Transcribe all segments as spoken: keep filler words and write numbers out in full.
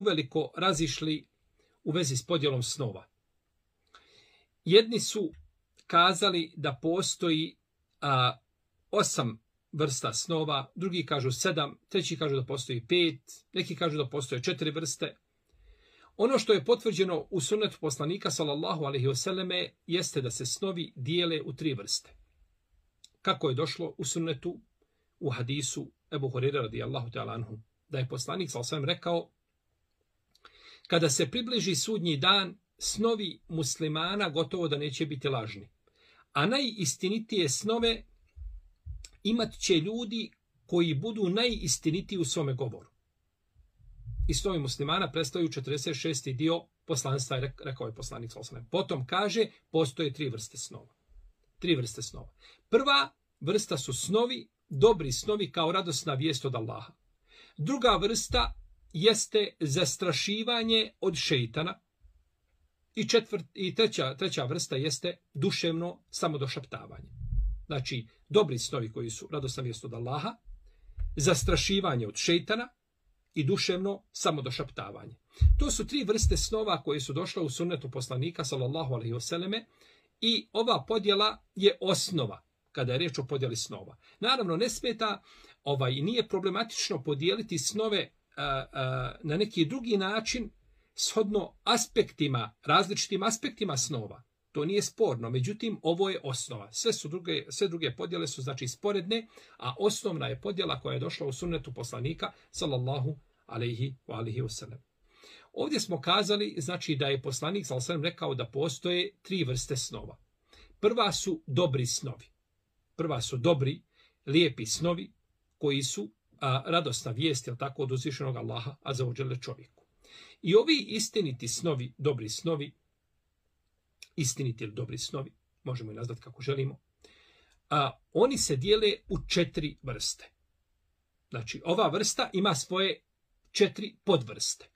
uveliko razišli u vezi s podjelom snova. Jedni su kazali da postoji a, osam vrsta snova, drugi kažu sedam, treći kažu da postoji pet, neki kažu da postoje četiri vrste. Ono što je potvrđeno u sunnetu poslanika sallallahu alejhi ve selleme jeste da se snovi dijele u tri vrste. Kako je došlo u sunnetu u hadisu Ebu Hurajre radijallahu ta'ala anhu, da je poslanik sallallahu alejhi ve sellem rekao: kada se približi sudnji dan, snovi muslimana gotovo da neće biti lažni. A najistinitije snove imat će ljudi koji budu najistinitiji u svome govoru. I snovi muslimana predstavljaju četrdeset šesti dio poslanstva, rekao je poslanik sallallahu alejhi ve sellem. Potom kaže, postoje tri vrste snova. Tri vrste snova. Prva vrsta su snovi, dobri snovi kao radosna vijest od Allaha. Druga vrsta jeste zastrašivanje od šejtana. I, četvrt, i treća, treća vrsta jeste duševno samodošaptavanje. Znači, dobri snovi koji su radosna vijest od Allaha, zastrašivanje od šejtana i duševno samodošaptavanje. To su tri vrste snova koje su došle u sunnetu poslanika sallallahu alejhi ve selleme i ova podjela je osnova kada je riječ o podjeli snova. Naravno, ne smeta, ovaj, nije problematično podijeliti snove a, a, na neki drugi način shodno aspektima, različitim aspektima snova. To nije sporno, međutim, ovo je osnova. Sve, su druge, sve druge podjele su znači sporedne, a osnovna je podjela koja je došla u sunnetu poslanika sallallahu alejhi ve alihi wasallam. Ovdje smo kazali znači da je poslanik sallallahu alejhi ve sellem rekao da postoje tri vrste snova. Prva su dobri snovi. Prva su dobri, lijepi snovi koji su a, radosna vijest, jel tako, od uzvišenog Allaha azza wa dželle čovjeku. I ovi istiniti snovi, dobri snovi, istiniti ili dobri snovi, možemo i nazvati kako želimo, a, oni se dijele u četiri vrste. Znači, ova vrsta ima svoje četiri podvrste.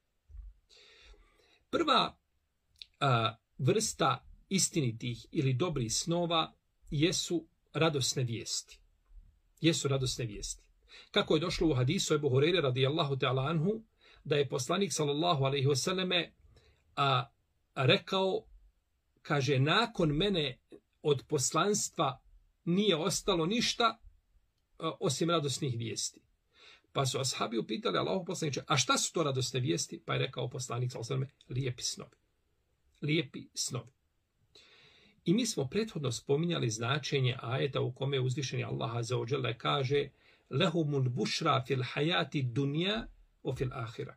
Prva a, vrsta istinitih ili dobrih snova jesu radosne vijesti. Jesu radosne vijesti. Kako je došlo u hadisu Ebu Hurajre radijallahu ta'ala anhu, da je poslanik sallallahu alejhi ve selleme a, a rekao, kaže, nakon mene od poslanstva nije ostalo ništa a, osim radosnih vijesti. Pa su ashabi upitali Allahu poslaniče, a šta su to radosne vijesti? Pa je rekao poslanik sallallahu alejhi ve selleme, lijepi snovi. Lijepi snovi. I mi smo prethodno spominjali značenje ajeta u kome uzvišeni Allah azza wa dželle kaže: lehumul bušra fil hayati dunya wa fil ahira.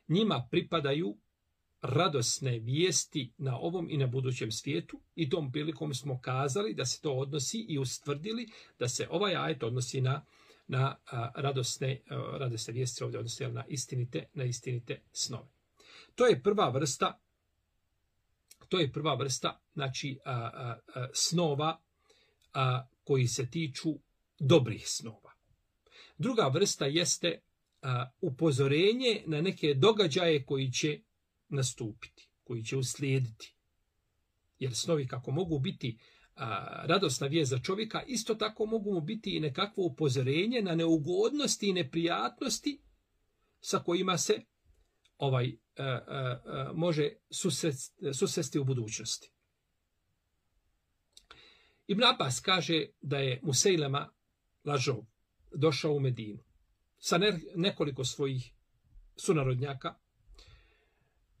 Njima pripadaju radosne vijesti na ovom i na budućem svijetu, i tom prilikom smo kazali da se to odnosi i ustvrdili da se ovaj ajet odnosi na na a, radosne a, radosne vijesti, ovdje odnosi na istinite na istinite snove. To je prva vrsta To je prva vrsta, znači, a, a, a, snova a, koji se tiču dobrih snova. Druga vrsta jeste a, upozorenje na neke događaje koji će nastupiti, koji će uslijediti. Jer snovi kako mogu biti a, radosna vijest za čovjeka, isto tako mogu mu biti i nekakvo upozorenje na neugodnosti i neprijatnosti sa kojima se ovaj a, a, a, može susresti, susresti u budućnosti. Ibn Abbas kaže da je Musejlema lažov došao u Medinu sa ne, nekoliko svojih sunarodnjaka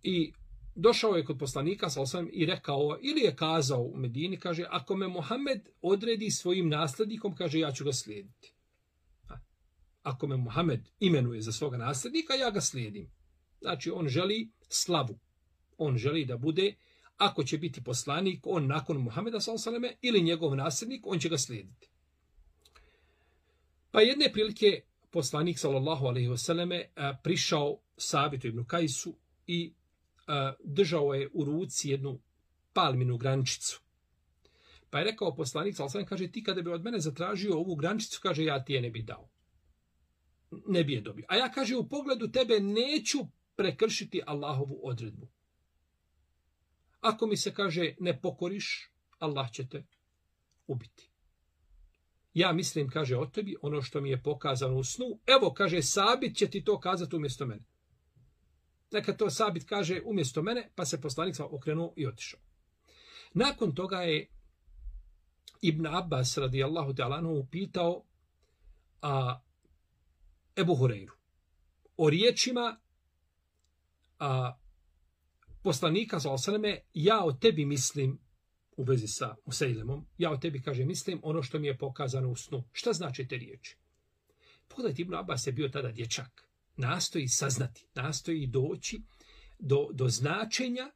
i došao je kod poslanika sallallahu alejhi ve sellem i rekao, ili je kazao u Medini, kaže, ako me Muhammed odredi svojim nasljednikom, kaže, ja ću ga slijediti. Ako me Muhammed imenuje za svoga nasljednika, ja ga slijedim. Znači, on želi slavu. On želi da bude, ako će biti poslanik, on nakon Muhameda sallallahu alejhi ve selleme ili njegov nasljednik, on će ga slijediti. Pa jedne prilike poslanik sallallahu alejhi ve selleme prišao Sabitu ibn Kajsu i a, držao je u ruci jednu palminu grančicu. Pa je rekao poslanik sallallahu alejhi ve selleme, kaže, ti kada bi od mene zatražio ovu grančicu, kaže, ja ti je ne bi dao. Ne bi je dobio. A ja, kaže, u pogledu tebe neću prekršiti Allahovu odredbu. Ako mi se, kaže, ne pokoriš, Allah će te ubiti. Ja mislim, kaže, o tebi ono što mi je pokazano u snu. Evo, kaže, Sabit će ti to kazati umjesto mene. Neka to Sabit kaže umjesto mene, pa se poslanik okrenuo i otišao. Nakon toga je Ibn Abbas radijallahu ta'ala anhu pitao a, Ebu Hureyru o riječima a, poslanika sallallahu alejhi ve selleme, ja o tebi mislim, u vezi sa Musejlemom, ja o tebi, kaže, mislim ono što mi je pokazano u snu. Šta znači te riječi? Pogledajte, Ibn Abbas je bio tada dječak. Nastoji saznati, nastoji doći do, do značenja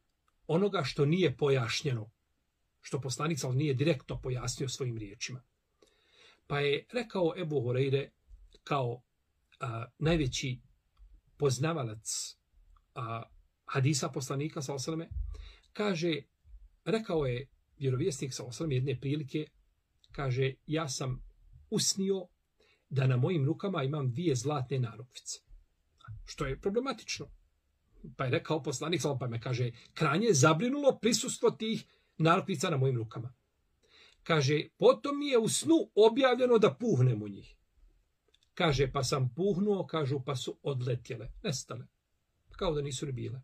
onoga što nije pojašnjeno, što poslanik sallallahu nije direktno pojasnio svojim riječima. Pa je rekao Ebu Hureyre kao a, najveći poznavalac a, hadisa poslanika sallallahu alejhi ve selleme, kaže, rekao je vjerovjesnik sallallahu alejhi ve selleme jedne prilike, kaže, ja sam usnio da na mojim rukama imam dvije zlatne narukvice. Što je problematično. Pa je rekao poslanik sallallahu alejhi ve selleme, pa me kaže, krajnje je zabrinulo prisustvo tih narukvica na mojim rukama. Kaže, potom mi je u snu objavljeno da puhnem u njih. Kaže, pa sam puhnuo, kažu, pa su odletjele, nestale. Kao da nisu ni bile.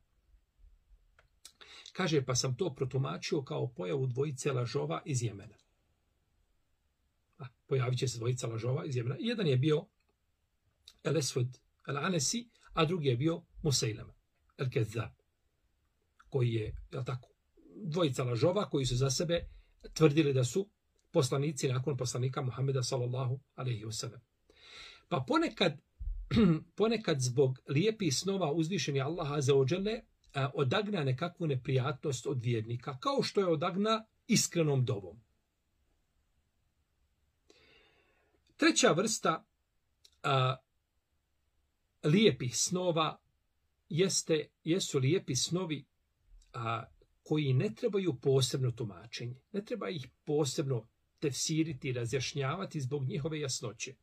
Kaže, pa sam to protumačio kao pojavu dvojice lažova iz Jemena. A, pojavit će se dvojica lažova iz Jemena. Jedan je bio El Esved El Anesi, a drugi je bio Musejlema El Kezab, koji je, jel tako, dvojica lažova koji su za sebe tvrdili da su poslanici nakon poslanika Muhameda sallallahu alejhi ve sellem. Pa ponekad, ponekad zbog lijepih snova uzvišeni Allah azza wa dželle odagna nekakvu neprijatnost od vjernika, kao što je odagna iskrenom dovom. Treća vrsta a, lijepih snova jeste, jesu lijepi snovi a, koji ne trebaju posebno tumačenje. Ne treba ih posebno tefsiriti, razjašnjavati zbog njihove jasnoće.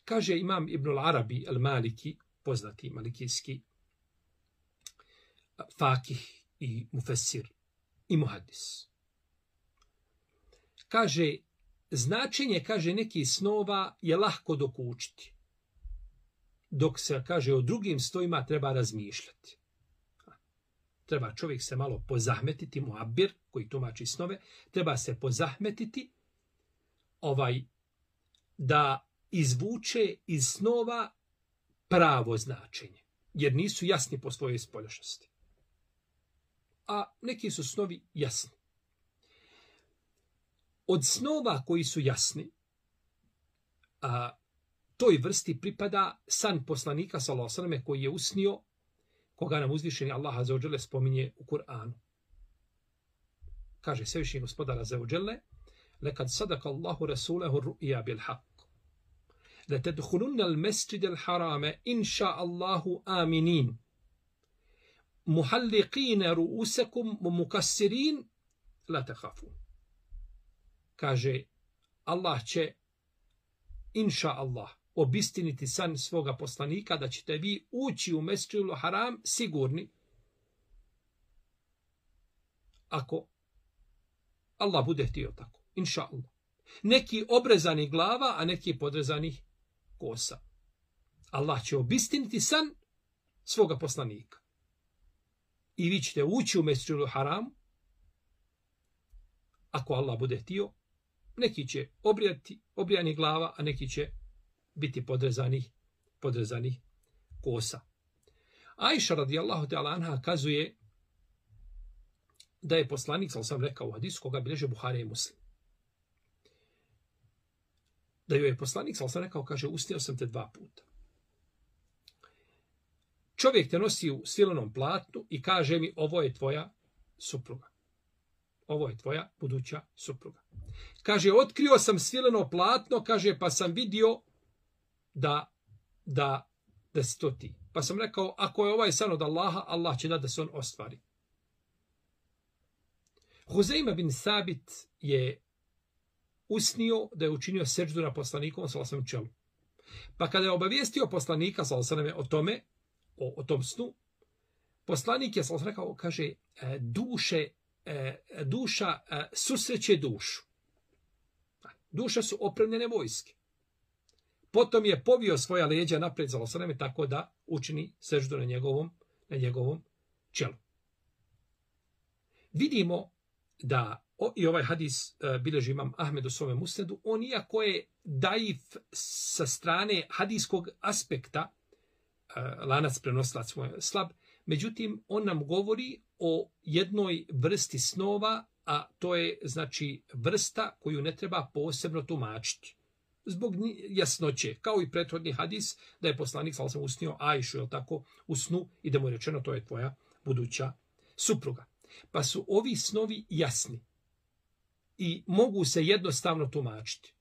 Kaže imam Ibnul Arabi al-Maliki, poznati malikijski fakih i mufesir i muhadis. Kaže, značenje, kaže, nekih snova je lahko dokučiti. Dok se, kaže, o drugim snovima treba razmišljati. Treba čovjek se malo pozahmetiti, muabir, koji tumači snove, treba se pozahmetiti ovaj, da izvuče iz snova pravo značenje, jer nisu jasni po svojoj spoljašnosti. A neki su snovi jasni. Od snova koji su jasni, a, toj vrsti pripada san poslanika sallallahu alejhi ve selleme koji je usnio, koga nam uzvišeni Allah azza wa dželle spominje u Kur'anu. Kaže svevišnji gospodar azza wa dželle: "Lekad sadaka Allahu rasulahu ru'ya bil haqq. La tadkhulunna al-masjid al-harama in sha'a Allahu aminin. Muhalliqina ru'usakum wa mukassirin la takhafun." Kaže, Allah će, inša Allah, obistiniti san svoga poslanika da ćete vi ući u Mesdžidul Haram sigurni, ako Allah bude htio tako. Inša Allah. Neki obrezani glava, a neki podrezanih kosa. Allah će obistiniti san svoga poslanika. I vi ćete ući u Mesdžidul Haram, ako Allah bude htio. Neki će obrijati, obrijani glava, a neki će biti podrezanih, podrezanih kosa. Ajša radijallahu ta'ala anha kazuje da je poslanik, sam sam rekao u hadisu koga bilježe Buharija i Muslim, da joj je poslanik, sam sam rekao, kaže, usnio sam te dva puta. Čovjek te nosi u svilenom platnu i kaže mi, ovo je tvoja supruga. Ovo je tvoja buduća supruga. Kaže, otkrio sam svileno platno, kaže, pa sam vidio da, da, da si to ti. Pa sam rekao, ako je ovaj san od Allaha, Allah će da da se on ostvari. Huzejma bin Sabit je usnio da je učinio seđdu na poslanikovom sallallahu alejhi ve sellem čelu. Pa kada je obavijestio poslanika sallallahu alejhi ve sellem o tome, o, o tom snu, poslanik je sallallahu alejhi ve sellem rekao, kaže, duše, duša susreće dušu. Duša su opremljene vojske. Potom je povio svoja leđa napred sallallahu alejhi ve sellem tako da učini seždu na njegovom, na njegovom čelu. Vidimo da o, i ovaj hadis uh, bilježi imam Ahmed u svome musnedu, on iako je daif sa strane hadijskog aspekta, uh, lanac prenosilac mu je slab, međutim on nam govori o jednoj vrsti snova, a to je znači vrsta koju ne treba posebno tumačiti. Zbog jasnoće, kao i prethodni hadis, da je poslanik sallallahu alejhi ve sellem usnio Ajšu, je tako, u snu i da mu je rečeno to je tvoja buduća supruga. Pa su ovi snovi jasni i mogu se jednostavno tumačiti.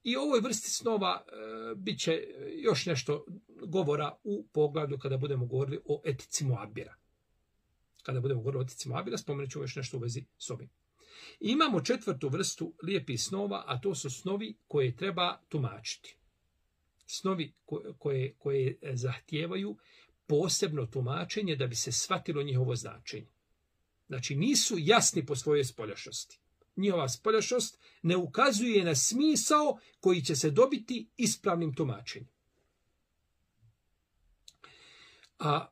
I o ovoj vrsti snova e, bit će još nešto govora u poglavlju kada budemo govorili o etici muabira. Kada budemo govorili o etici muabira, spomenut ćemo još nešto u vezi s ovim. I imamo četvrtu vrstu lijepih snova, a to su snovi koje treba tumačiti. Snovi koje, koje, koje zahtijevaju posebno tumačenje da bi se shvatilo njihovo značenje. Znači nisu jasni po svojoj spoljašnosti. Njihova spoljašnost ne ukazuje na smisao koji će se dobiti ispravnim tumačenjem. A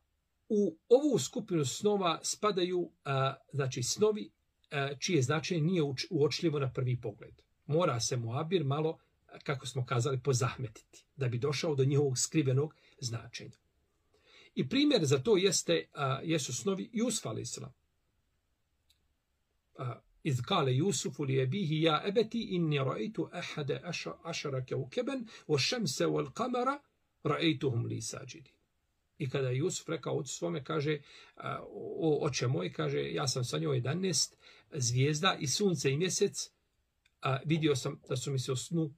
u ovu skupinu snova spadaju a, znači snovi a, čije značenje nije uočljivo na prvi pogled. Mora se muabir malo, kako smo kazali, pozahmetiti da bi došao do njihovog skrivenog značenja. I primjer za to jeste, a, jesu snovi Jusufa alejhi selam. إذ قال يوسف لأبيه يا أبتي إني رأيت أحد عشر كوكبا والشمس والقمر رأيتهم لي ساجدين. I kada je Jusuf rekao ocu svome, kaže, o oče moj, kaže, ja sam sanjao jedanaest zvijezda i sunce i mjesec, a vidio sam da su mi se u snu,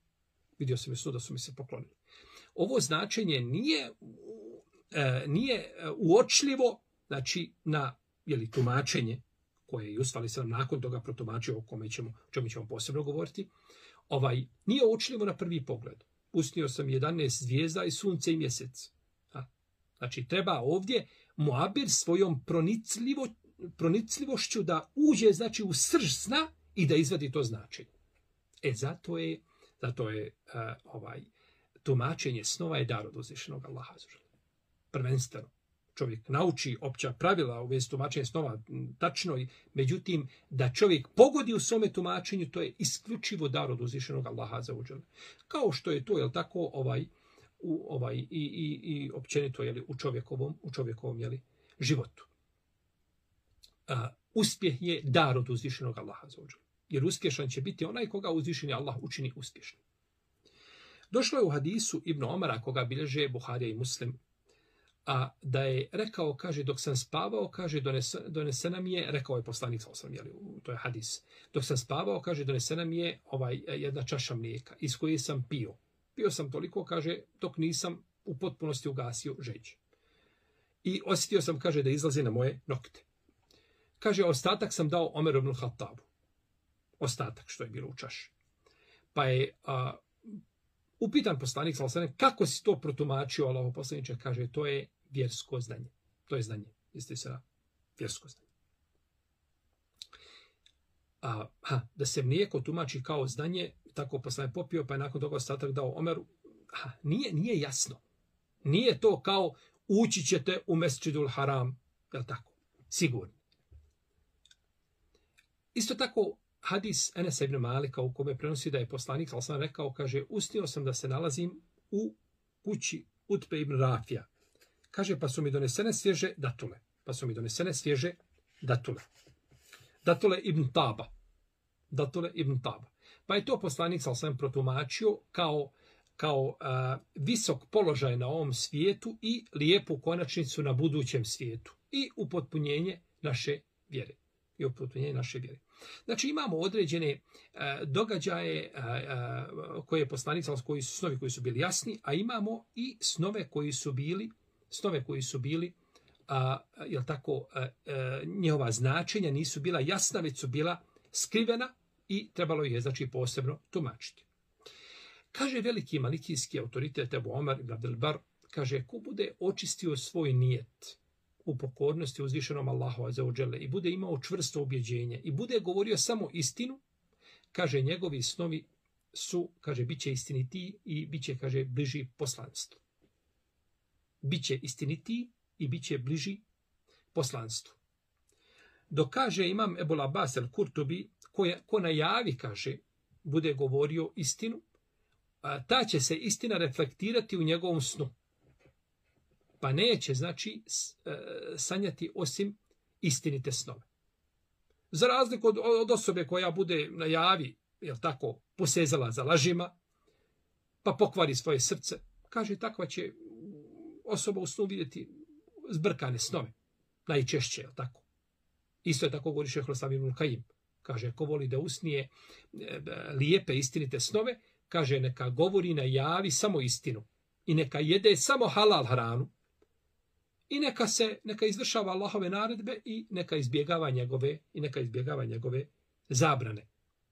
vidio sam i snu da su mi se poklonili. Ovo značenje nije, nije uočljivo, znači, na jeli, tumačenje koje je Jusuf alejhi selam nakon toga protumačio, o kome ćemo, o čemu ćemo posebno govoriti, ovaj, nije uočljivo na prvi pogled. Usnio sam jedanaest zvijezda i sunce i mjesec. A, znači, treba ovdje muabir svojom pronicljivo, pronicljivošću da uđe znači, u srž sna i da izvadi to značenje. E, zato je, zato je uh, ovaj, tumačenje snova je dar od uzvišenog Allaha. Prvenstveno. Čovjek nauči opća pravila u vezi tumačenja snova tačno, međutim da čovjek pogodi u svome tumačenju, to je isključivo dar od uzvišenog Allaha azza wa dželle. Kao što je to, je l' tako, ovaj, u, ovaj, i, i, i općenito je li, u čovjekovom, u čovjekovom je li, životu. A, uspjeh je dar od uzvišenog Allaha azza wa dželle. Jer uspješan će biti onaj koga uzvišeni Allah učini uspješnim. Došlo je u hadisu Ibn Omara, koga bilježe Buharija i Muslim, a da je rekao, kaže, dok sam spavao, kaže, donese, donesena mi je, rekao je poslanik, sam, jeli, to je hadis, dok sam spavao, kaže, donesena mi je ovaj, jedna čaša mlijeka, iz koje sam pio. Pio sam toliko, kaže, dok nisam u potpunosti ugasio žeđ. I osjetio sam, kaže, da izlazi na moje nokte. Kaže, ostatak sam dao Omeru ibn Khattabu. Ostatak što je bilo u čaši. Pa je a, upitan poslanik, kako si to protumačio, Allahov poslaniče, kaže, to je vjersko znanje. To je znanje. Jeste se vjersko znanje. A, ha, da se mlijeko tumači kao znanje, tako poslanik popio, pa je nakon toga ostatak dao Omeru. Ha, nije, nije jasno. Nije to kao ući ćete u Mesdžidul Haram. Je li tako? Sigurno. Isto tako, hadis Enesa ibn Malika u kome prenosi da je poslanik, ali sam rekao, kaže, usnio sam da se nalazim u kući Utbe ibn Rafija. Kaže, pa su mi donesene svježe datule. Pa su mi donesene svježe datule. Datule ibn Taba. Datule ibn Taba. Pa je to poslanik, ali sam protumačio kao, kao a, visok položaj na ovom svijetu i lijepu konačnicu na budućem svijetu. I upotpunjenje naše vjere. I upotpunjenje naše vjere. Znači imamo određene a, događaje a, a, koje je poslanik, koji su snovi koji su bili jasni, a imamo i snove koji su bili, snove koji su bili, a, jel tako, a, a, njihova značenja nisu bila jasna, već su bila skrivena i trebalo je znači posebno tumačiti. Kaže veliki malikijski autoritet Ebu Omer ibn Abdel Bar, kaže, ko bude očistio svoj nijet u pokornosti uzvišenom Allahu azza wa dželle i bude imao čvrsto ubjeđenje i bude govorio samo istinu, kaže, njegovi snovi su, kaže, bit će istiniti i bit će, kaže, bliži poslanstvu. Biće istiniti i bit će bliži poslanstvu. Dok kaže imam Ebul Abbas el-Kurtubi, ko, ko na javi, kaže, bude govorio istinu, a ta će se istina reflektirati u njegovom snu. Pa neće, znači, sanjati osim istinite snove. Za razliku od, od osobe koja bude na javi, jel tako, posezala za lažima, pa pokvari svoje srce, kaže, takva će osoba u snu vidjeti zbrkane snove. Najčešće, jel tako? Isto je tako govori šejh Islam ibn Kajim. Kaže, ko voli da usnije lijepe istinite snove, kaže, neka govori na javi samo istinu. I neka jede samo halal hranu. I neka se, neka izvršava Allahove naredbe i neka izbjegava njegove, i neka izbjegava njegove zabrane.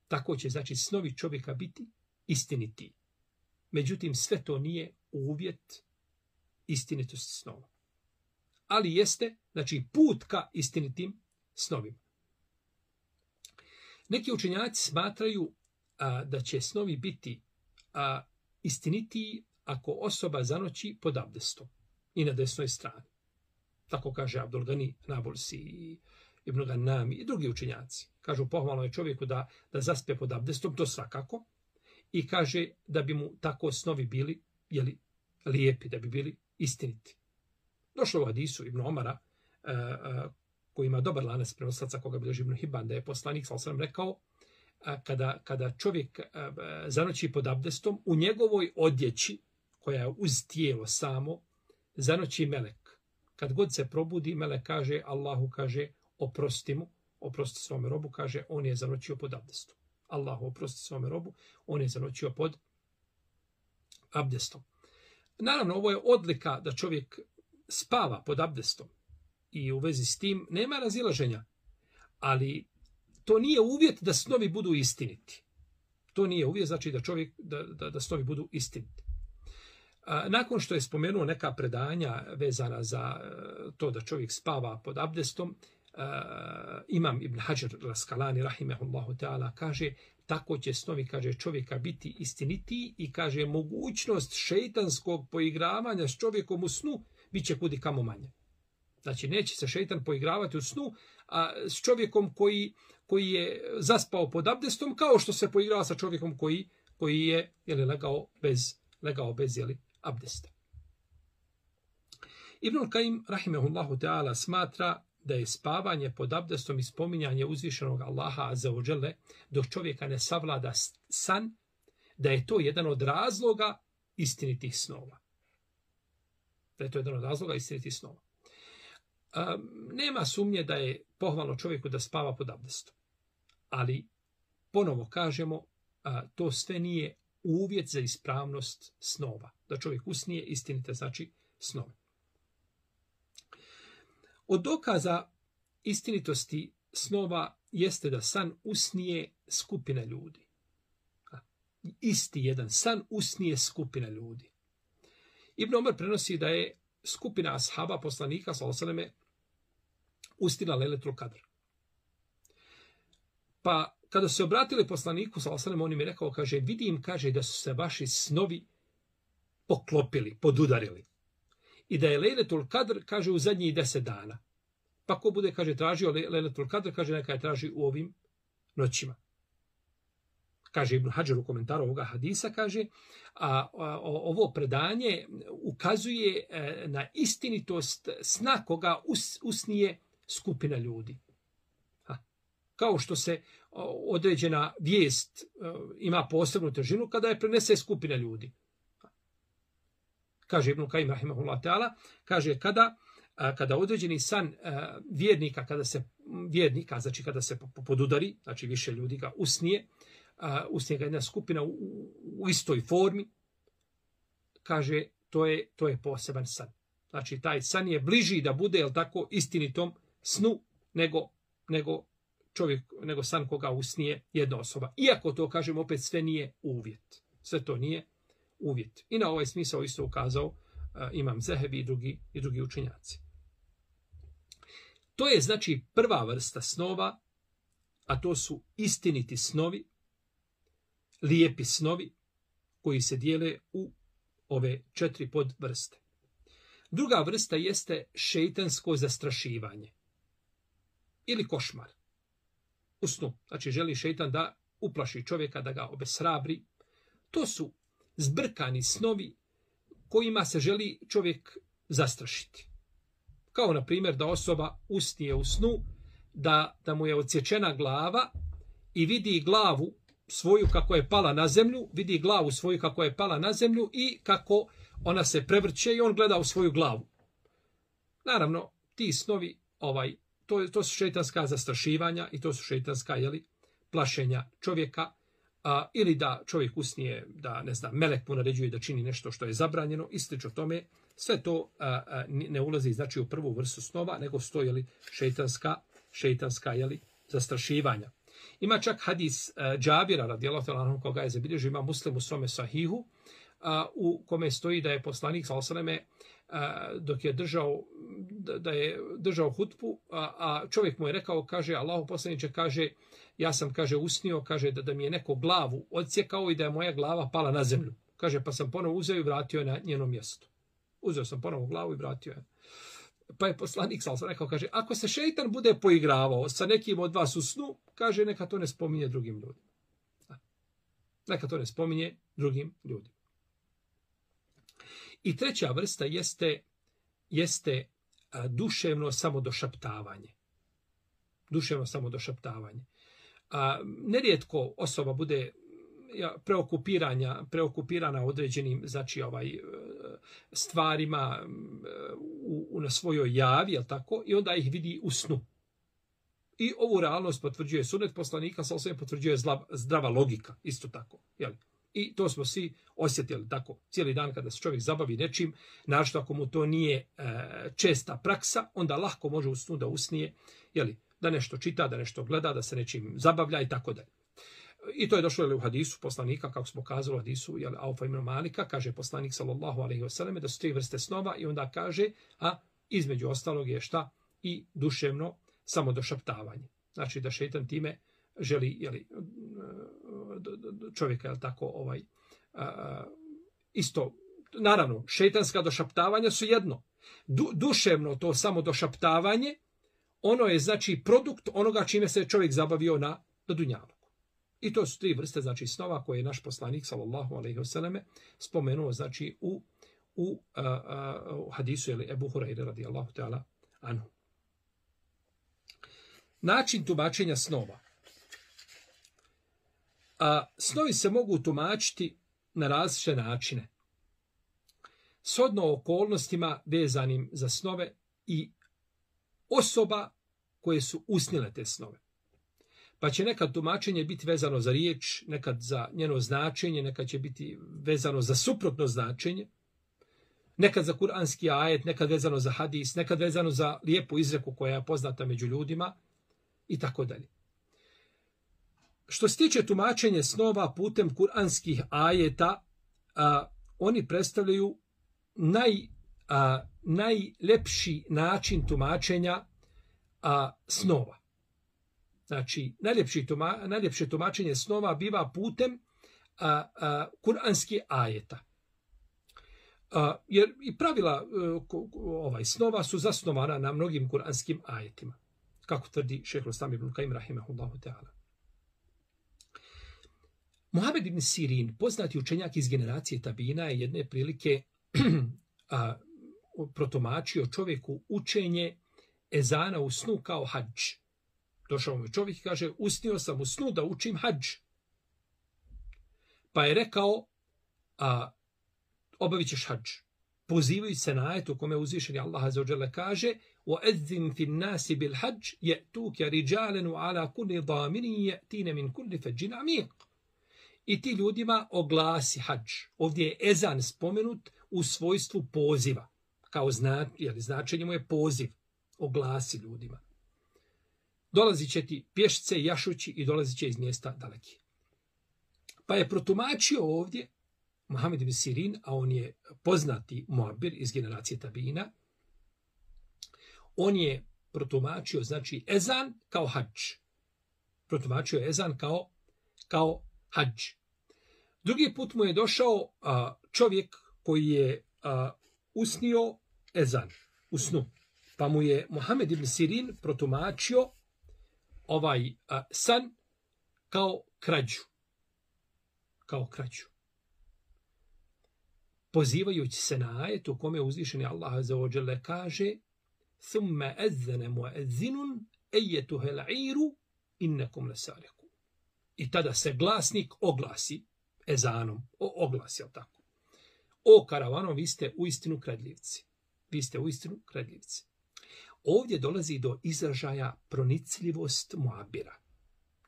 Tako će, znači, snovi čovjeka biti istiniti. Međutim, sve to nije uvjet istinitosti snova. Ali jeste, znači, put ka istinitim snovima. Neki učenjaci smatraju a, da će snovi biti a, istinitiji ako osoba zanoći pod abdestom i na desnoj strani. Tako kaže Abdul Gani Nabulsi i Ibn Gannami i drugi učenjaci. Kažu, pohvalno je čovjeku da, da zaspe pod abdestom, to svakako. I kaže da bi mu tako snovi bili jeli, lijepi, da bi bili istiniti. Došlo u hadisu Ibn Omara, a, a, koji ima dobar lanac prenoslaca, koga bilježi Ibn Hibban, da je poslanik sallallahu alejhi ve sellem rekao, a, kada, kada čovjek a, a, zanoći pod abdestom, u njegovoj odjeći, koja je uz tijelo samo, zanoći melek. Kad god se probudi, melek kaže, Allahu kaže, oprosti mu, oprosti svome robu, kaže, on je zanoćio pod abdestom. Allahu oprosti svome robu, on je zanoćio pod abdestom. Naravno, ovo je odlika da čovjek spava pod abdestom i u vezi s tim nema razilaženja, ali to nije uvjet da snovi budu istiniti. To nije uvjet, znači da čovjek, da, da, da snovi budu istiniti. Nakon što je spomenuo neka predanja vezana za to da čovjek spava pod abdestom, imam Ibn Hajar al-Asqalani rahimehullahu ta'ala kaže, tako će snovi, kaže, čovjeka biti istinitiji i kaže, mogućnost šejtanskog poigravanja s čovjekom u snu bit će kudi kamo manje. Znači, neće se šejtan poigravati u snu a, s čovjekom koji, koji je zaspao pod abdestom, kao što se poigrava sa čovjekom koji, koji je jeli, legao bez, legao bez jeli, abdesta. Ibn Kajim, rahimehullahu ta'ala, smatra da je spavanje pod abdestom i spominjanje uzvišenog Allaha azza wa dželle dok čovjeka ne savlada san, da je to jedan od razloga istinitih snova. Da je to jedan od razloga istinitih snova. Um, nema sumnje da je pohvalno čovjeku da spava pod abdestom. Ali, ponovo kažemo, a, to sve nije uvjet za ispravnost snova. Da čovjek usnije istinite, znači snove. Od dokaza istinitosti snova jeste da san usnije skupina ljudi. Isti jedan san usnije skupina ljudi. Ibn Omer prenosi da je skupina ashaba poslanika sallallahu alejhi ve selleme ustila Lejletul Kadr. Pa kada se obratili poslaniku sallallahu alejhi ve selleme, on im je rekao, kaže, vidim, kaže, da su se vaši snovi poklopili, podudarili. I da je Lejletul Kadr, kaže, u zadnjih deset dana. Pa ko bude, kaže, tražio Lejletul Kadr, kaže, neka je traži u ovim noćima. Kaže Ibn Hadžar u komentaru ovoga hadisa, kaže, a, a ovo predanje ukazuje e, na istinitost sna koga us, usnije skupina ljudi. Ha. Kao što se o, određena vijest o, ima posebnu težinu kada je prenese skupina ljudi. Ha. Kaže Ibn Kajim rahimahullah ta'ala, kaže kada, a, kada određeni san a, vjernika, kada se vjernika, znači kada se podudari, znači više ljudi ga usnije, Uh, usnije ga jedna skupina u, u istoj formi, kaže, to je, to je poseban san. Znači, taj san je bliži da bude, jel tako, istinitom snu, nego, nego čovjek, nego san koga usnije jedna osoba. Iako to, kažem, opet sve nije uvjet. Sve to nije uvjet. I na ovaj smisao isto ukazao uh, imam Zehebi i drugi, i drugi učenjaci. To je, znači, prva vrsta snova, a to su istiniti snovi, lijepi snovi koji se dijele u ove četiri podvrste. Druga vrsta jeste šeitansko zastrašivanje ili košmar u snu. Znači želi šeitan da uplaši čovjeka, da ga obeshrabri. To su zbrkani snovi kojima se želi čovjek zastrašiti. Kao na primjer da osoba usnije u snu, da, da mu je odsječena glava i vidi glavu svoju kako je pala na zemlju, vidi glavu svoju kako je pala na zemlju i kako ona se prevrće i on gleda u svoju glavu. Naravno, ti snovi, ovaj, to, to su šeitanska zastrašivanja i to su šeitanska, jeli, plašenja čovjeka, a, ili da čovjek usnije, da, ne znam, melek mu naređuje da čini nešto što je zabranjeno i slično tome. Sve to a, a, ne ulazi, znači, u prvu vrstu snova, nego sto, jeli, šeitanska, šeitanska, jeli, zastrašivanja. Ima čak hadis uh, Džabira, radijallahu ta'ala anhu, koga je zabilježio ima Muslim u svome sahihu, uh, u kome stoji da je poslanik sallallahu alejhi ve selleme dok je držao da, da je držao hutbu, a, a čovjek mu je rekao, kaže, Allahu poslaniče, kaže, ja sam, kaže, usnio, kaže, da, da mi je neko glavu odsjekao i da je moja glava pala na zemlju. Kaže, pa sam ponovo uzeo i vratio je na njeno mjesto. Uzeo sam ponovo glavu i vratio je. Pa je poslanik sallallahu alejhi ve selleme rekao, kaže, ako se šejtan bude poigravao sa nekim od vas u snu, kaže, neka to ne spominje drugim ljudima. Neka to ne spominje drugim ljudima. I treća vrsta jeste, jeste a, duševno samodošaptavanje. Duševno samodošaptavanje. A, nerijetko osoba bude ja, preokupiranja, preokupirana određenim, znači, ovaj, stvarima u, u, na svojoj javi, jel tako? I onda ih vidi u snu. I ovu realnost potvrđuje sunet poslanika, sa osvijem potvrđuje zla, zdrava logika, isto tako. Jel? I to smo svi osjetili tako. Cijeli dan kada se čovjek zabavi nečim, našto ako mu to nije e, česta praksa, onda lahko može u snu da usnije, jel, da nešto čita, da nešto gleda, da se nečim zabavlja i tako dalje. I to je došlo, jel, u hadisu poslanika, kako smo kazali u hadisu, jel, Aufa ibn Malika, kaže poslanik sallallahu alejhi ve selleme da su tri vrste snova i onda kaže, a između ostalog je šta? I duševno samodošaptavanje. Znači da šejtan time želi, jeli, čovjeka, jel tako, ovaj, a, isto, naravno, šejtanska došaptavanja su jedno. Du, duševno to samodošaptavanje, ono je, znači, produkt onoga čime se čovjek zabavio na, na dunjalu. I to su tri vrste, znači, snova koje je naš poslanik, sallallahu alejhi ve selleme, spomenuo, znači, u, u, a, a, u hadisu, jeli, Ebu Hurajre, radijallahu ta'ala anhu. Način tumačenja snova. A, snovi se mogu tumačiti na različite načine. Shodno okolnostima vezanim za snove i osoba koje su usnile te snove. Pa će nekad tumačenje biti vezano za riječ, nekad za njeno značenje, nekad će biti vezano za suprotno značenje, nekad za kuranski ajet, nekad vezano za hadis, nekad vezano za lijepu izreku koja je poznata među ljudima i tako dalje. Što se tiče tumačenja snova putem kuranskih ajeta, a, oni predstavljaju naj, a, najlepši način tumačenja a, snova. Znači, najljepši tuma, najljepše tumačenje snova biva putem a, a, kuranskih ajeta. A, jer i pravila a, ko, ovaj, snova su zasnovana na mnogim kuranskim ajetima. Kako tvrdi šejh Islam ibn Kajim rahimehullahu ta'ala. Muhammed ibn Sirin, poznati učenjak iz generacije tabina, je jedne prilike a, protumačio čovjeku učenje ezana u snu kao hadž. Došao mu čovjek i kaže, usnio sam u snu da učim hadž. Pa je rekao, a, obavit ćeš hadž. Pozivajući se na ajetu kome uzvišeni Allah azza wa jalla kaže, وَأَذِّنْ فِي النَّاسِ بِالْحَجِّ يَأْتُوكَ رِجَالًا وَعَلَى كُلِّ ضَامِرٍ يَأْتِينَ مِنْ كُلِّ فَجٍّ عَمِيقٍ. I ti ljudima oglasi hadž. Ovdje je ezan spomenut u svojstvu poziva. Kao zna, jer značenje mu je poziv. Oglasi ljudima. Dolazit će ti pješce, jašući i dolazit će iz mjesta daleki. Pa je protumačio ovdje Muhammed ibn Sirin, a on je poznati muabir iz generacije tabina, on je protumačio, znači, ezan kao hadž. Protumačio je ezan kao, kao hadž. Drugi put mu je došao a, čovjek koji je a, usnio ezan u snu. Pa mu je Muhammed ibn Sirin protumačio ovaj a, san kao krađu. Kao krađu. Pozivajući se na ajet u kome uzvišeni Allah azza wa dželle kaže thumma azzana mu'azzinun ayyatuha al-'iru innakum lasariqun. I tada se glasnik oglasi ezanom, o, oglasi, jel tako? O karavano, vi ste uistinu kradljivci. Vi ste uistinu kradljivci. Ovdje dolazi do izražaja pronicljivost muabira,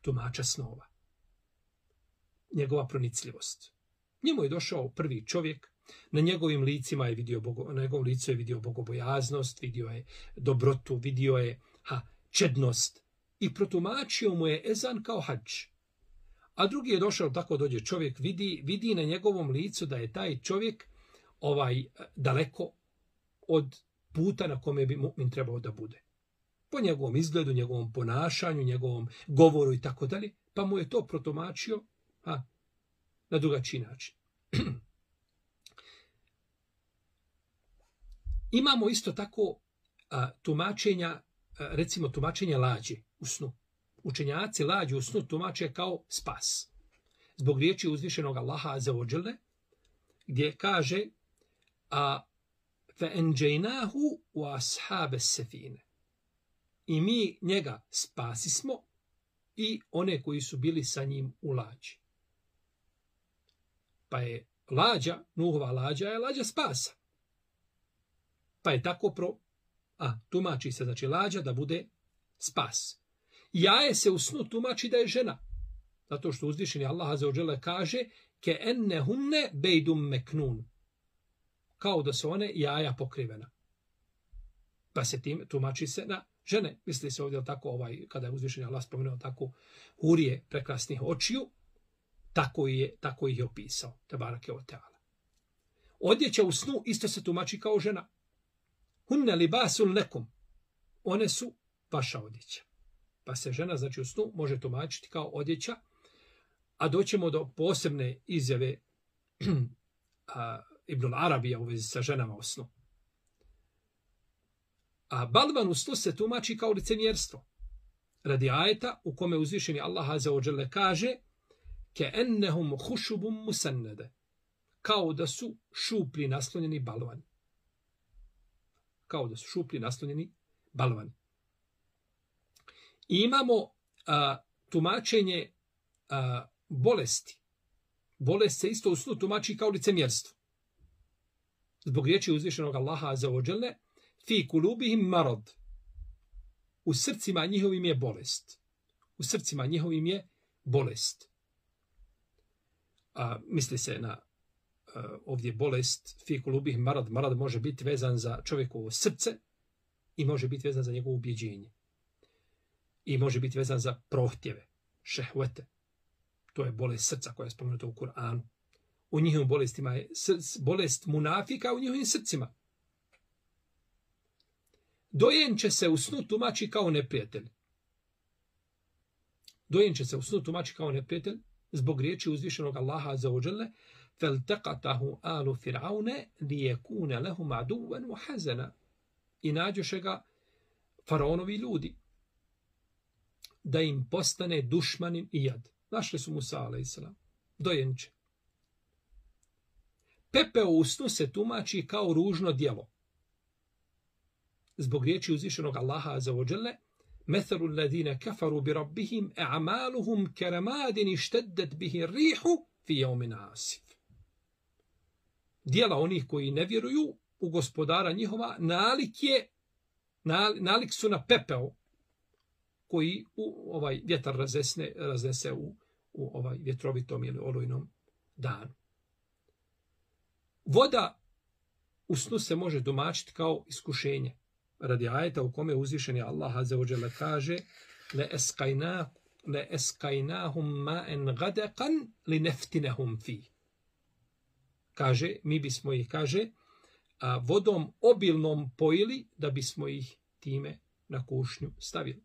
tumača snova. Njegova pronicljivost. Njemu je došao prvi čovjek, na njegovim licima je vidio bogo, na njegovom licu je vidio bogobojaznost, vidio je dobrotu, vidio je ha, čednost i protumačio mu je ezan kao hadž. A drugi je došao, tako dođe čovjek, vidi, vidi na njegovom licu da je taj čovjek ovaj daleko od puta na kome bi mu'min trebao da bude. Po njegovom izgledu, njegovom ponašanju, njegovom govoru i tako dalje, pa mu je to protumačio a, na drugačiji način. Imamo isto tako a, tumačenja, a, recimo tumačenja lađe u snu. Učenjaci lađu u snu tumače kao spas. Zbog riječi uzvišenog Allaha azza wa dželle, gdje kaže a فَأَنْجَيْنَاهُ وَأَصْحَابَ السَّفِينَ. I mi njega spasismo i one koji su bili sa njim u lađi. Pa je lađa, Nuhova lađa je lađa spasa. Pa je tako pro... A, tumači se, znači lađa da bude spas. Jaje se u snu tumači da je žena. Zato što uzvišeni Allah azza wa dželle kaže كَأَنَّهُنَّ بَيْدٌ مَكْنُونَ. Kao da su one jaja pokrivena. Pa se tim tumači se na žene. Misli se ovdje tako, ovaj, kada je uzvišeni Allah spomenuo tako hurije prekrasnih očiju, tako je, tako ih je opisao. Tebarake o teala. Odjeća u snu isto se tumači kao žena. Hunne libasun lekum. One su vaša odjeća. Pa se žena, znači u snu, može tumačiti kao odjeća, a doćemo do posebne izjave a, Ibn Arabija u vezi sa ženama u snu. A balvan u snu se tumači kao licemjerstvo. Radi ajeta u kome uzvišeni Allah azza wa dželle kaže ke'ennehum hušubum musannade. Kao da su šupli naslonjeni balvani. Kao da su šupli naslonjeni balvani. I imamo a, tumačenje a, bolesti. Bolest se isto u snu tumači kao licemjerstvo. Zbog riječi uzvišenog Allaha azza wa dželle fi kulubihim marad. U srcima njihovim je bolest. U srcima njihovim je bolest. A, misli se na a, ovdje bolest fi kulubihim marad. Marad može biti vezan za čovjekovo srce i može biti vezan za njegovo ubjeđenje. I može biti vezan za prohtjeve, šehvete. To je bolest srca koja je spomenuta u Kur'anu. U njihovim bolestima je bolest munafika u njihovim srcima. Dojenče se u snu tumači kao neprijatelj. Dojenče se u snu tumači kao neprijatelj zbog riječi uzvišenog Allaha azza wa dželle فَالْتَقَتَهُ آلُ فِرْعَوْنَ لِيَكُونَ لَهُمْ عَدُوًّا وَحَزَنًا. I nađoše ga faraonovi ljudi da im postane dušmanin i jad. Našli su Musa alejselam. Dojenče. Pepeo u snu se tumači kao ružno djelo. Zbog riječi uzvišenog Allaha azza wa dželle مَثَلُ الَّذِينَ كَفَرُوا بِرَبِّهِمْ أَعْمَالُهُمْ كَرَمَادٍ اشْتَدَّتْ بِهِ الرِّيحُ فِي يَوْمٍ عَاصِفٍ. Djela onih koji ne vjeruju u gospodara njihova nalik, je, nalik su na pepeo koji u ovaj vjetar razesne, raznese u, u ovaj vjetrovitom ili olujnom danu. Voda u snu se može tumačiti kao iskušenje. Radi ajeta u kome uzvišeni Allah azza wa dželle kaže le eskajna le eskajnahum ma'an ghadaqan linaftinahum fi. Kaže, mi bismo ih, kaže, a, vodom obilnom pojili da bismo ih time na kušnju stavili.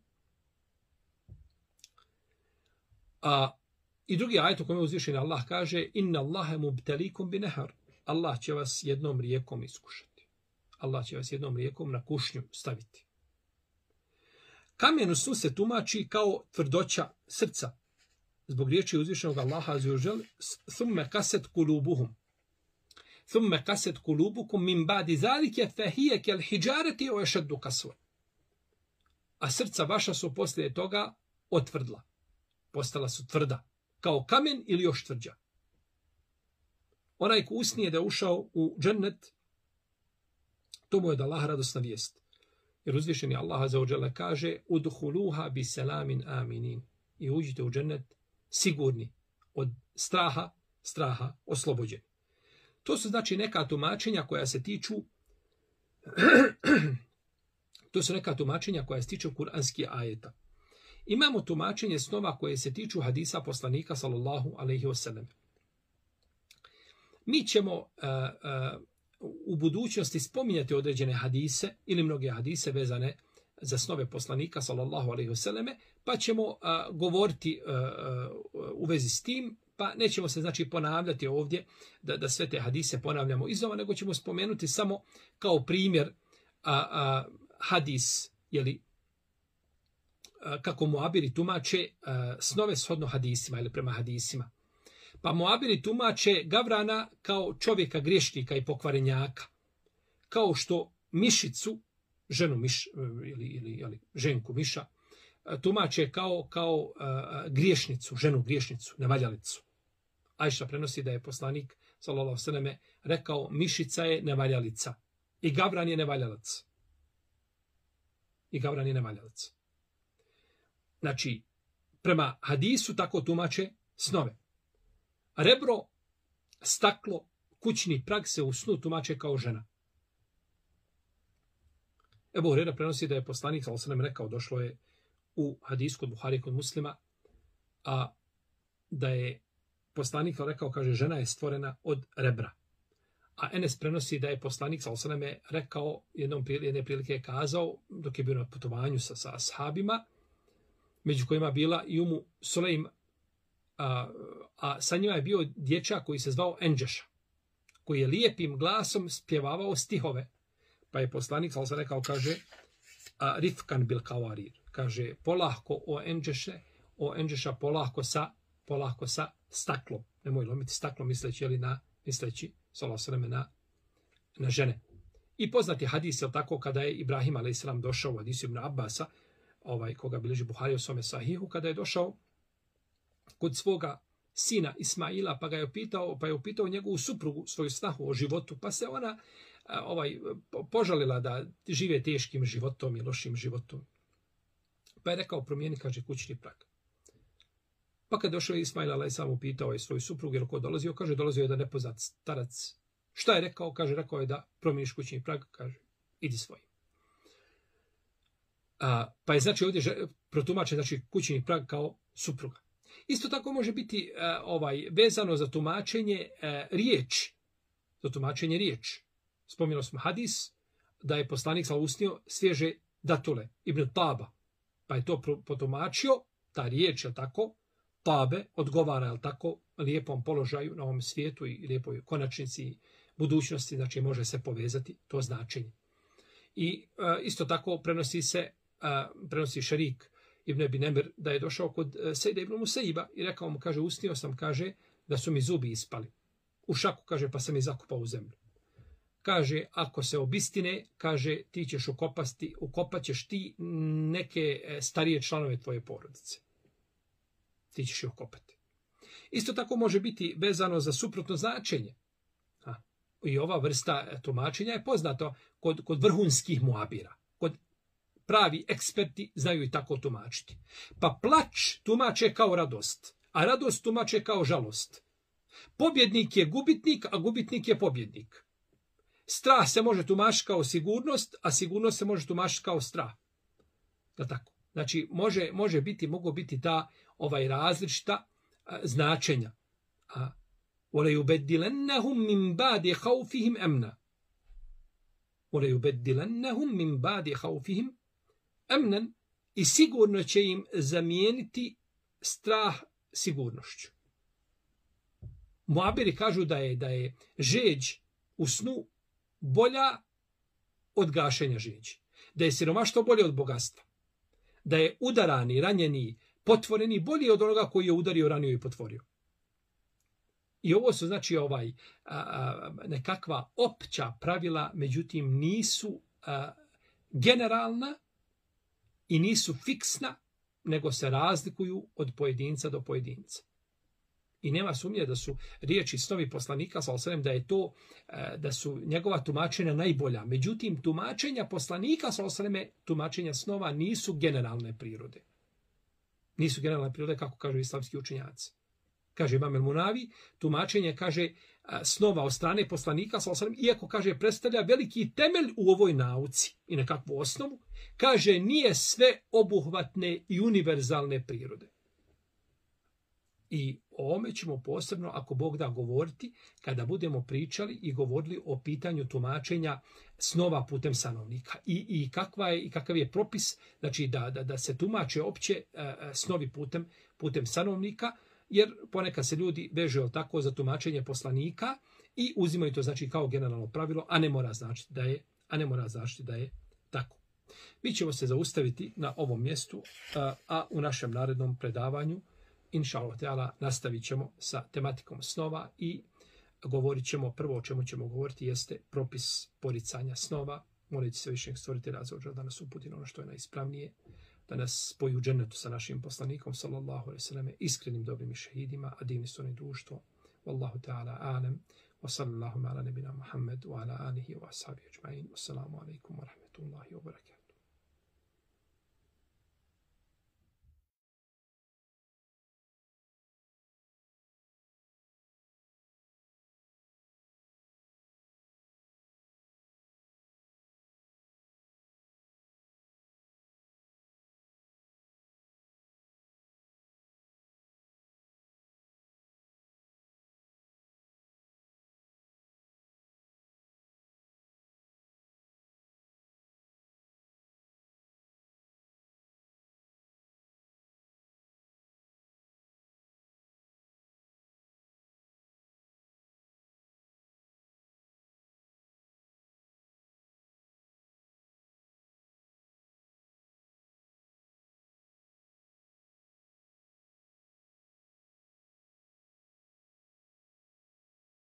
A, I drugi ajet u kome uzvišeni Allah kaže inna Allahe mubtalikum binehar. Allah će vas jednom rijekom iskušati. Allah će vas jednom rijekom na kušnju staviti. Kamen u snu se tumači kao tvrdoća srca. Zbog riječi uzvišenog Allaha azza wa džel, thumme kaset kulubuhum. Thumme kaset kulubukum min ba'di zalike fahije kel hijareti o ešeddu kasva. A srca vaša su poslije toga otvrdla. Postala su tvrda. Kao kamen ili još tvrđa. Onaj ko usnije da je ušao u džennet, to mu je da Allah radosna vijest. Jer uzvišeni Allah azza wa dželle kaže udhuluha bi selamin aminin. I uđite u džennet sigurni od straha, straha oslobođeni. To su znači neka tumačenja koja se tiču to su neka tumačenja koja se tiču kuranskih ajeta. Imamo tumačenje snova koje se tiču hadisa poslanika sallallahu alejhi ve sellem. Mi ćemo uh, uh, u budućnosti spominjati određene hadise ili mnoge hadise vezane za snove poslanika sallallahu alejhi ve selleme, pa ćemo uh, govoriti uh, uh, u vezi s tim, pa nećemo se znači ponavljati ovdje da, da sve te hadise ponavljamo iznova, nego ćemo spomenuti samo kao primjer uh, uh, hadis, jeli, uh, kako muabiri tumače uh, snove shodno hadisima ili prema hadisima. Pa muabiri tumače Gavrana kao čovjeka griješnika i pokvarenjaka. Kao što mišicu, ženu miš, ili, ili, ili ženku miša, tumače kao, kao uh, griješnicu, ženu griješnicu, nevaljalicu. Ajša prenosi da je poslanik, sallallahu alejhi ve selleme, rekao mišica je nevaljalica i Gavran je nevaljalac. I Gavran je nevaljalac. Znači, prema hadisu tako tumače snove. Rebro, staklo, kućni prag se u snu tumače kao žena. Ebu Hurajra prenosi da je poslanik sallallahu alejhi ve sellem rekao, došlo je u hadisu kod Buhari kod Muslima, a da je poslanik rekao, kaže, žena je stvorena od rebra. A Enes prenosi da je poslanik sallallahu alejhi ve sellem rekao, jednom jedne prilike je kazao, dok je bio na putovanju sa, sa ashabima, među kojima bila i Umu Sulejm, A, a sa njima je bio dječak koji se zvao Enđeša, koji je lijepim glasom spjevavao stihove. Pa je poslanik sallallahu alejhi ve sellem rekao, kaže, a, rifkan bil kawarir, kaže, polahko o Enđeše, o Enđeša polahko sa, polahko sa staklom. Nemoj lomiti staklo misleći, jeli na, misleći, sallallahu alejhi ve sellem, na, na žene. I poznati hadis, je tako, kada je Ibrahim alejhi selam došao u hadisu Ibn Abbasa, ovaj, koga bilježi Buhari u svome sahihu, kada je došao kod svoga sina Ismaila, pa ga je upitao, pa je upitao njegovu suprugu, svoju snahu o životu, pa se ona ovaj požalila da žive teškim životom i lošim životom. Pa je rekao, promijeni, kaže, kućni prag. Pa kad došao Ismail alejhiselam, upitao je svoju suprugu, jer ko dolazio, kaže, dolazio je da nepoznat starac. Šta je rekao? Kaže, rekao je da promijeniš kućni prag, kaže, idi svojim. A, pa je znači ovdje protumačen, znači kućni prag kao supruga. Isto tako može biti uh, ovaj vezano za tumačenje uh, riječi. Za tumačenje riječi. Spominjali smo hadis da je poslanik sallallahu alejhi ve sellem usnio svježe datule, Ibn Taba. Pa je to potumačio, ta riječ, je tako, Tabe, odgovara, je tako, lijepom položaju na ovom svijetu i lijepoj konačnici budućnosti, znači može se povezati to značenje. I uh, isto tako prenosi se, uh, prenosi Šerik Ibn Abi Nemir, da je došao kod Sejda ibn Musaiba i rekao mu, kaže, usnio sam, kaže, da su mi zubi ispali. U šaku, kaže, pa sam ih zakupao u zemlju. Kaže, ako se obistine, kaže, ti ćeš ukopasti, ukopat ćeš ti neke starije članove tvoje porodice. Ti ćeš ih ukopati. Isto tako može biti vezano za suprotno značenje. Ha. I ova vrsta tumačenja je poznato kod, kod vrhunskih muabira. Kod pravi eksperti znaju i tako tumačiti. Pa plać tumače kao radost, a radost tumače kao žalost. Pobjednik je gubitnik, a gubitnik je pobjednik. Strah se može tumačiti kao sigurnost, a sigurnost se može tumačiti kao strah. Da tako. Znači, može, može biti, mogu biti ta ovaj različita a, značenja. A وَلَيُبَدِّلَنَّهُمْ مِنْ بَعْدِ خَوْفِهِمْ أَمْنًا وَلَيُبَدِّلَنَّهُمْ مِنْ بَعْدِ خَوْفِهِمْ أَمْنًا i sigurno će im zamijeniti strah sigurnošću. Muabiri kažu da je da je žeđ u snu bolja od gašenja žiđi. Da je siromaštvo bolje od bogatstva. Da je udarani, ranjeni, potvoreni bolji od onoga koji je udario, ranio i potvorio. I ovo su znači ovaj a, a, nekakva opća pravila, međutim nisu a, generalna i nisu fiksna, nego se razlikuju od pojedinca do pojedinca. I nema sumnje da su riječi snovi poslanika sallallahu alejhi ve sellem da je to da su njegova tumačenja najbolja. Međutim, tumačenja poslanika sallallahu alejhi ve sellem, tumačenja snova nisu generalne prirode. Nisu generalne prirode kako kažu islamski učenjaci. Kaže Imam el-Munavi, tumačenje kaže snova od strane poslanika sallallahu alejhi ve sellem, iako kaže predstavlja veliki temelj u ovoj nauci i nekakvu osnovu, kaže nije sve obuhvatne i univerzalne prirode. I o ovome ćemo posebno, ako Bog da, govoriti kada budemo pričali i govorili o pitanju tumačenja snova putem sanovnika. I, i, kakva je, i kakav je propis, znači da, da, da se tumače opće e, snovi putem, putem sanovnika, jer ponekad se ljudi vežu tako za tumačenje poslanika i uzimaju to znači kao generalno pravilo, a ne mora značiti da je, a ne mora značiti da je tako. Mi ćemo se zaustaviti na ovom mjestu, a, a u našem narednom predavanju inša Allah teala nastavit ćemo sa tematikom snova i govorit ćemo, prvo o čemu ćemo govoriti jeste propis poricanja snova. Molit se višnjeg stvoritelja da nas uputi na ono što je najispravnije, da nas spoji u džennetu sa našim poslanikom sallallahu alejhi ve selleme, iskrenim dobrim i šehidima, a divni su oni društvo. Wallahu ta'ala alem, wa sallallahu ala nebina Muhammed, wa ala alihi wa ashabihi ajma'in. Wassalamu alaikum wa rahmetullahi wa barakatuh.